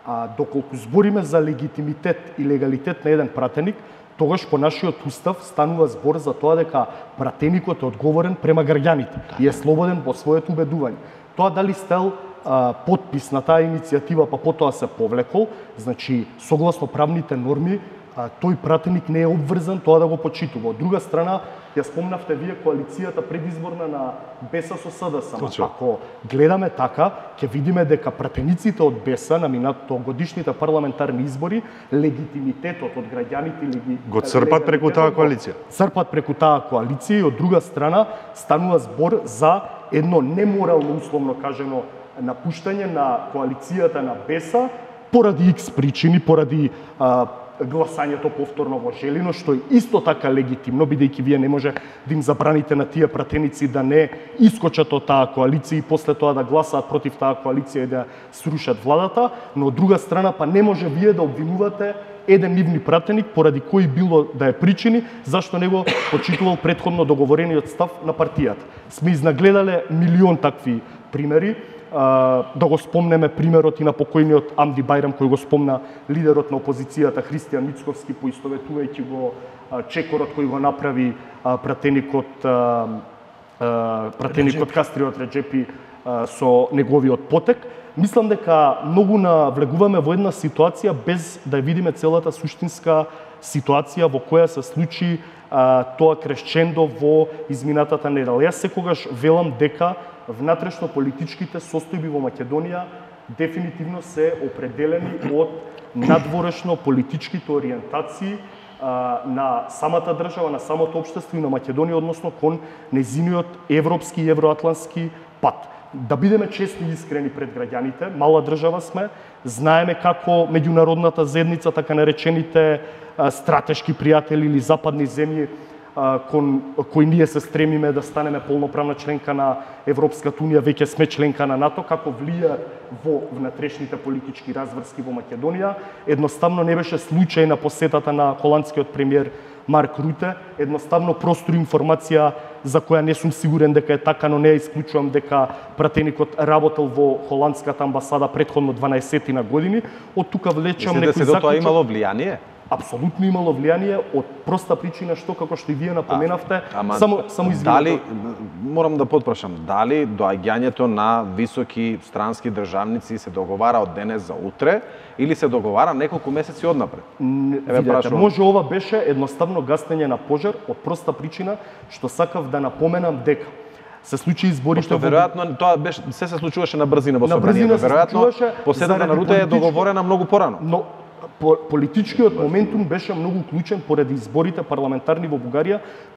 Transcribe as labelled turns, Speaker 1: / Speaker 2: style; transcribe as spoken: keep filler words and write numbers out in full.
Speaker 1: А, доколку збориме за легитимитет и легалитет на еден пратеник, тогаш по нашиот устав станува збор за тоа дека пратеникот е одговорен према граѓаните и е слободен во своето убедување. Тоа дали стел а, подпис на таа иницијатива, па потоа се повлекол, значи согласно правните норми, а, тој пратеник не е обврзан тоа да го почитува. Од друга страна, ја спомнавте вие коалицијата предизборна на БЕСА со СДСМ. Ако гледаме така, ќе видиме дека пратениците од БЕСА на минатото годишните парламентарни избори, легитимитетот од граѓаните леги...
Speaker 2: го црпат преку таа коалиција.
Speaker 1: Црпат преку таа коалиција и од друга страна станува збор за едно неморално, условно кажено, напуштање на коалицијата на БЕСА поради икс причини, поради а, гласањето повторно во Желино, што е исто така легитимно, бидејќи вие не може да им забраните на тие пратеници да не искочат од таа коалиција и после тоа да гласаат против таа коалиција и да срушат владата, но од друга страна па не може вие да обвинувате еден нивни пратеник поради кој било да е причини зашто не го почитувал претходно договорениот став на партијата. Сме изнагледале милион такви примери. Да го спомнеме примерот и на покојниот Амди Бајрам, кој го спомна лидерот на опозицијата Христијан Мицковски, поистоветувајќи го чекорот кој го направи пратеникот пратеникот Кастриот Реджепи со неговиот потек. Мислам дека многу навлегуваме во една ситуација без да видиме целата суштинска ситуација во која се случи тоа крешчендо во изминатата недела. Јас секогаш велам дека внатрешно политичките состојби во Македонија дефинитивно се определени од надворешно политичките ориентации а, на самата држава, на самото општество и на Македонија, односно кон нејзиниот европски и евроатлански пат. Да бидеме честни и искрени пред граѓаните, мала држава сме, знаеме како меѓународната заедница, така наречените а, стратешки пријатели или западни земји кон кои ние се стремиме да станеме полноправна членка на Европската унија, веќе сме членка на НАТО, како влија во внатрешните политички разврски во Македонија. Едноставно не беше случајна посетата на холандскиот премиер Марк Руте, едноставно простор информација за која не сум сигурен дека е така, но не ја исклучувам дека пратеникот работел во холандската амбасада претходно дванаесет години. Од тука влечам некој
Speaker 3: заклучок. Мислите дека тоа имало влијание?
Speaker 1: Апсолутно имало влијание од проста причина што, како што и вие напоменавте,
Speaker 3: а, ама,
Speaker 1: само само извинете.
Speaker 3: Дали морам да потпрашам, дали доаѓањето на високи странски државници се договара од денес за утре или се договара неколку месеци однапред?
Speaker 1: Еве прашувам. Може ова беше едноставно гасење на пожар од проста причина што сакав да напоменам дека се случи изборите.
Speaker 3: Пошто веројатно тоа беше се се случуваше на брзина во собранието.
Speaker 1: На брзина се
Speaker 3: веројатно посетата на Руте е договорена многу порано.
Speaker 1: Но политичкиот моментум беше многу клучен поради изборите парламентарни во Бугарија,